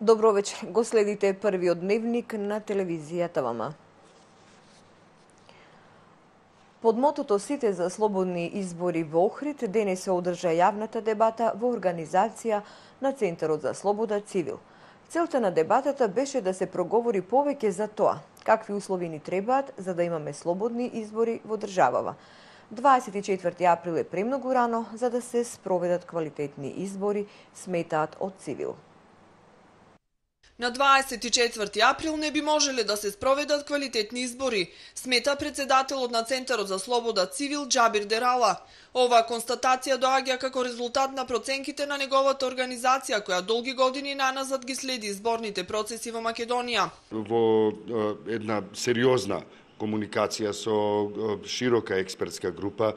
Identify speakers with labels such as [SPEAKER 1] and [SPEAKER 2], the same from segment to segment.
[SPEAKER 1] Добро вечер. Го следите првиот дневник на телевизија ТВМ. Под мотото "Сите за слободни избори во Охрид" денес се одржа јавната дебата во организација на Центарот за слобода Цивил. Целта на дебатата беше да се проговори повеќе за тоа какви услови ни требаат за да имаме слободни избори во државава. 24 април е премногу рано за да се спроведат квалитетни избори, сметаат од Цивил.
[SPEAKER 2] На 24 април не би можеле да се спроведат квалитетни избори, смета председателот на Центарот за слобода Цивил Џабир Дерала. Оваа констатација доаѓа како резултат на проценките на неговата организација, која долги години наназад ги следи изборните процеси во Македонија.
[SPEAKER 3] Во една сериозна комуникација со широка експертска група,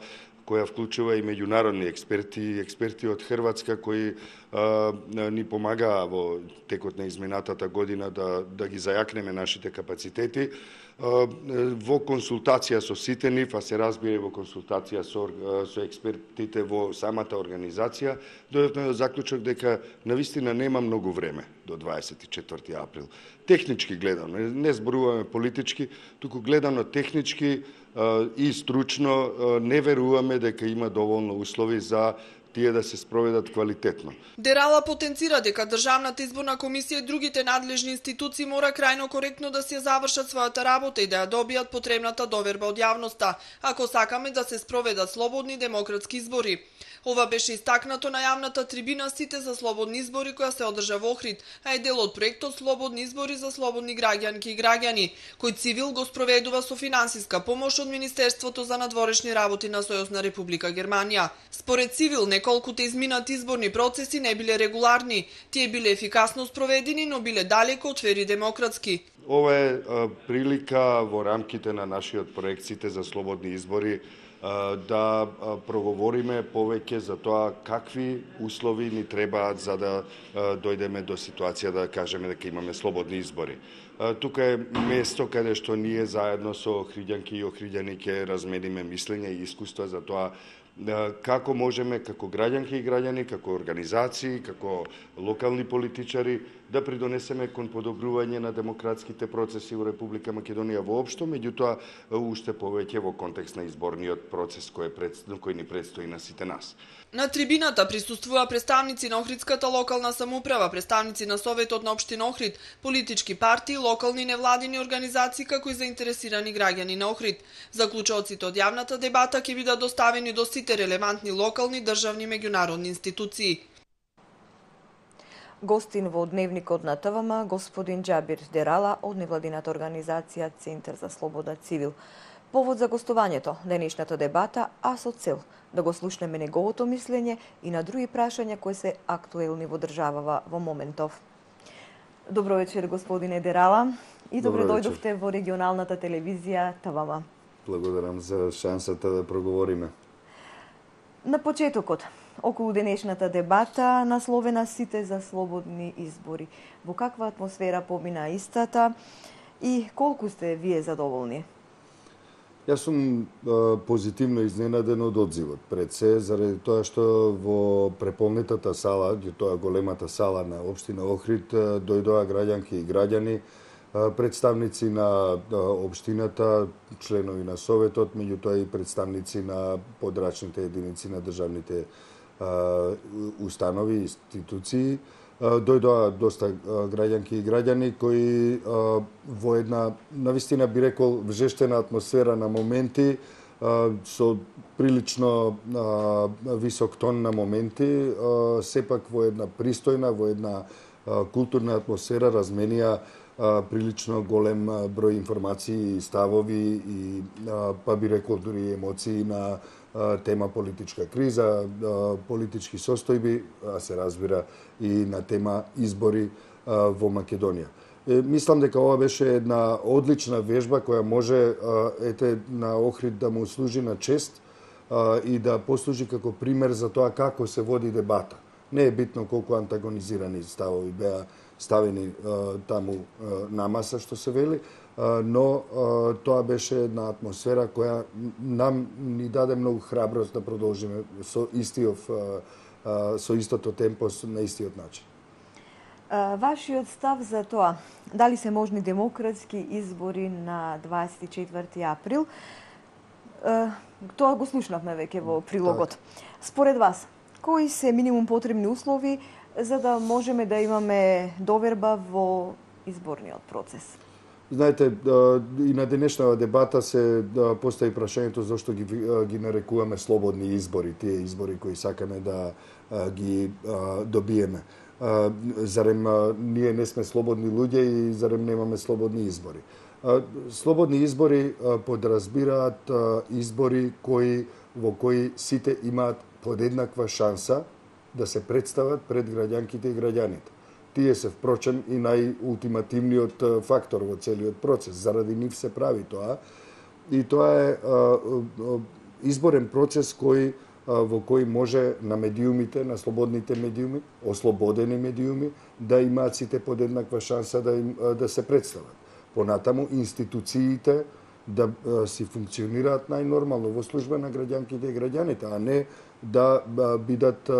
[SPEAKER 3] која вклучува и меѓународни експерти од Хрватска кои ни помагаа во текот на изминатата година да ги зајакнеме нашите капацитети. Во консултација со сите нив, а се разбира во консултација со експертите во самата организација, дојдовме до заклучок дека навистина нема многу време до 24 април. Технички гледано, не зборуваме политички, туку гледано технички и стручно, не веруваме дека има доволно услови за тие да се спроведат квалитетно.
[SPEAKER 2] Дерала потенцира дека Државната изборна комисија и другите надлежни институции мора крајно коректно да се завршат својата работа и да ја добијат потребната доверба од јавноста, ако сакаме да се спроведат слободни демократски избори. Ова беше истакнато на јавната трибина "Сите за слободни избори" која се одржа во Охрид, а е дел од проектот "Слободни избори за слободни граѓанки и граѓани", кој Цивил го спроведува со финансиска помош од Министерството за надворешни работи на Сојузна Република Германија. Според Цивил, неколкуте изминати изборни процеси не биле регуларни, тие биле ефикасно спроведени, но биле далеко од фер и демократски.
[SPEAKER 3] Ова е прилика во рамките на нашиот проект "Сите за слободни избори" да проговориме повеќе за тоа какви услови ни требаат за да дојдеме до ситуација да кажеме дека имаме слободни избори. Тука е место каде што ние заедно со охриѓанки и охриѓани ќе размениме мислење и искуства за тоа како можеме, како граѓанки и граѓани, како организации, како локални политичари, да придонесеме кон подобрување на демократските процеси во Република Македонија воопшто, меѓутоа уште повеќе во контекст на изборниот процес кој ни предстои на сите нас.
[SPEAKER 2] На трибината присуствува представници на Охридската локална самоуправа, представници на Советот на општина Охрид, политички партии, локални невладини организации, како и заинтересирани граѓани на Охрид. Заклучоците од јавната дебата ќе бидат доставени до сите релевантни локални, државни и меѓународни институции.
[SPEAKER 1] Гостин во дневникот на ТВМ господин Џабир Дерала од невладината организација Центар за слобода Цивил. Повод за гостувањето денешната дебата, а со цел да го слушнеме неговото мислење и на други прашања кои се актуелни во државава во моментов. Добро вечер, господине Дерала, и добре дојдовте во регионалната телевизија ТВМ.
[SPEAKER 4] Благодарам за шансата да проговориме.
[SPEAKER 1] На почетокот, околу денешната дебата, насловена "Сите за слободни избори". Во каква атмосфера помина истата и колку сте вие задоволни?
[SPEAKER 4] Јас сум позитивно изненаден од одзивот. Пред се, заради тоа што во преполнетата сала, тоа големата сала на општина Охрид, дојдоа граѓанки и граѓани, представници на општината, членови на Советот, меѓутоа и представници на подрачните единици на државните установи и институции. Дојдоа доста граѓанки и граѓани кои во една, навистина би рекол, вжештена атмосфера на моменти, со прилично висок тон на моменти, сепак во една пристојна, во една културна атмосфера разменија прилично голем број информации и ставови и, па би рекол, дури емоции на тема политичка криза, политички состојби, а се разбира и на тема избори во Македонија. Мислам дека ова беше една одлична вежба која може на Охрид да му служи на чест и да послужи како пример за тоа како се води дебата. Не е битно колку антагонизирани ставови беа ставени таму на маса, што се вели, но тоа беше една атмосфера која нам ни даде многу храброст да продолжиме со истото темпо, на истиот начин.
[SPEAKER 1] Вашиот став за тоа, дали се можни демократски избори на 24 април? Тоа го слушнавме веќе во прилогот. Според вас, кои се минимум потребни услови за да можеме да имаме доверба во изборниот процес?
[SPEAKER 4] Знаете, и на денешната дебата се постави прашањето зашто ги нарекуваме слободни избори, тие избори кои сакаме да ги добиеме. Зарем ние не сме слободни луѓе и зарем немаме слободни избори? Слободни избори подразбираат избори во кои сите имаат подеднаква шанса да се представат пред граѓанките и граѓаните. Тие се впрочем и најултимативниот фактор во целиот процес. Заради нив се прави тоа. И тоа е изборен процес во кој може на медиумите, на слободните медиуми, ослободени медиуми, да имаат сите подеднаква шанса да се представат. Понатаму институциите да си функционираат најнормално во служба на граѓанките и граѓаните, а не да бидат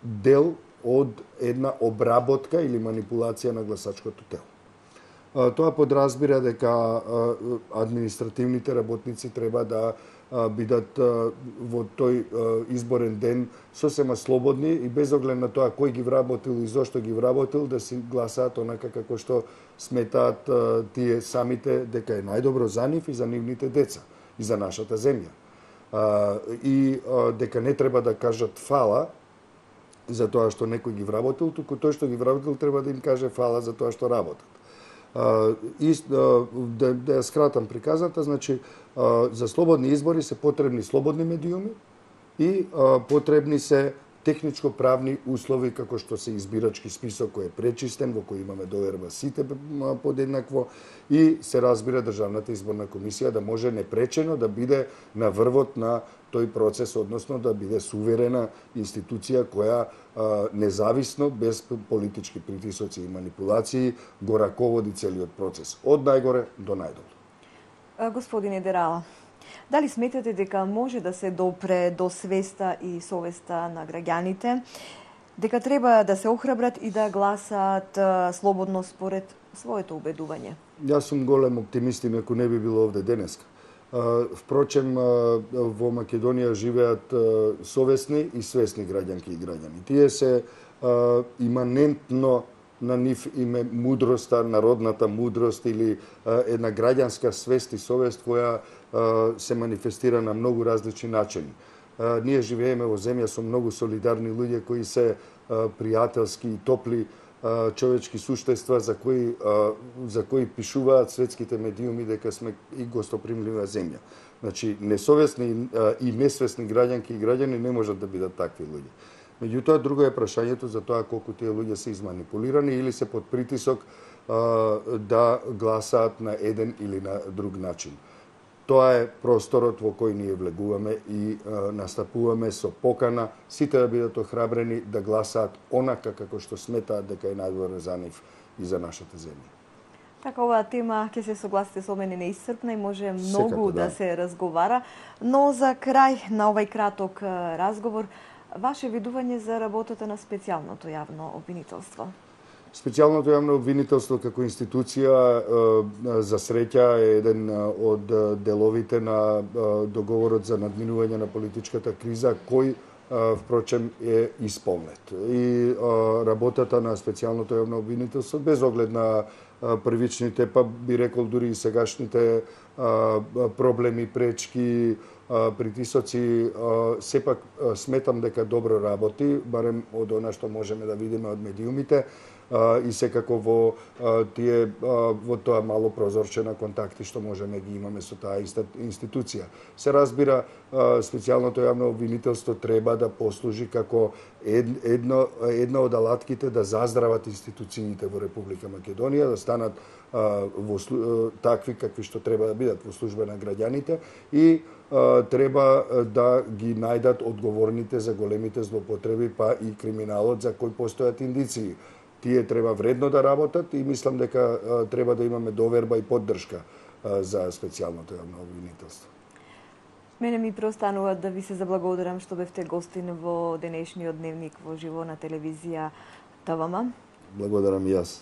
[SPEAKER 4] дел од една обработка или манипулација на гласачкото тело. Тоа подразбира дека административните работници треба да бидат во тој изборен ден сосема слободни и без оглед на тоа кој ги вработил и зошто ги вработил, да си гласаат онака како што сметаат тие самите дека е најдобро за нив и за нивните деца и за нашата земја. И дека не треба да кажат фала за тоа што некој ги вработил, туку тој што ги вработил треба да им каже фала за тоа што работат. Да ја скратам приказната, значи за слободни избори се потребни слободни медиуми и потребни се техничко-правни услови како што се избирачки список кој е пречистен, во кој имаме доверба сите подеднакво и се разбира Државната изборна комисија да може непречено да биде на врвот на тој процес, односно да биде суверена институција која независно, без политички притисоци и манипулации, го раководи целиот процес, од најгоре до најдолу.
[SPEAKER 1] Господине Дерала, дали сметате дека може да се допре до свеста и совеста на граѓаните, дека треба да се охрабрат и да гласаат слободно според своето убедување?
[SPEAKER 4] Јас сум голем оптимист, иако не би било овде денеска. Впрочем, во Македонија живеат совесни и свесни граѓанки и граѓани. Тие се иманентно на нив име мудроста, народната мудрост или една граѓанска свест и совест која се манифестира на многу различни начини. Ние живееме во земја со многу солидарни луѓе кои се пријателски и топли човечки суштества за кои пишуваат светските медиуми дека сме и гостопримлива земја. Значи, несовесни и несвесни граѓанки и граѓани не можат да бидат такви луѓе. Меѓутоа, друго е прашањето за тоа колку тие луѓе се изманипулирани или се под притисок да гласаат на еден или на друг начин. Тоа е просторот во кој ние влегуваме и настапуваме со покана сите да бидат охрабрени да гласаат онака како што сметаат дека е најдобро за нив и за нашата земја.
[SPEAKER 1] Така, оваа тема, ќе се согласите со мене, неисцрпна и може многу да се разговара, но за крај на овај краток разговор, ваше видување за работата на специјалното јавно обвинителство?
[SPEAKER 4] Специјалното јавно обвинителство како институција за среќа е еден од деловите на договорот за надминување на политичката криза кој впрочем е исполнет. И работата на специјалното јавно обвинителство без оглед на првичните, па би рекол дури и сегашните проблеми, пречки, притисоци, сепак сметам дека добро работи, барем од она што можеме да видиме од медиумите и секако во тоа мало прозорче на контакти што можеме ги имаме со таа институција. Се разбира, специјалното јавно обвинителство треба да послужи како една од алатките да заздрават институциите во Република Македонија, да станат такви какви што треба да бидат во служба на граѓаните и треба да ги најдат одговорните за големите злоупотреби, па и криминалот за кој постојат индиции. Тие треба вредно да работат и мислам дека треба да имаме доверба и поддршка за специјалното јавно обвинителство.
[SPEAKER 1] Мене ми преостанува да ви се заблагодарам што бевте гостин во денешниот дневник во живо на телевизија ТВМ.
[SPEAKER 4] Благодарам и јас.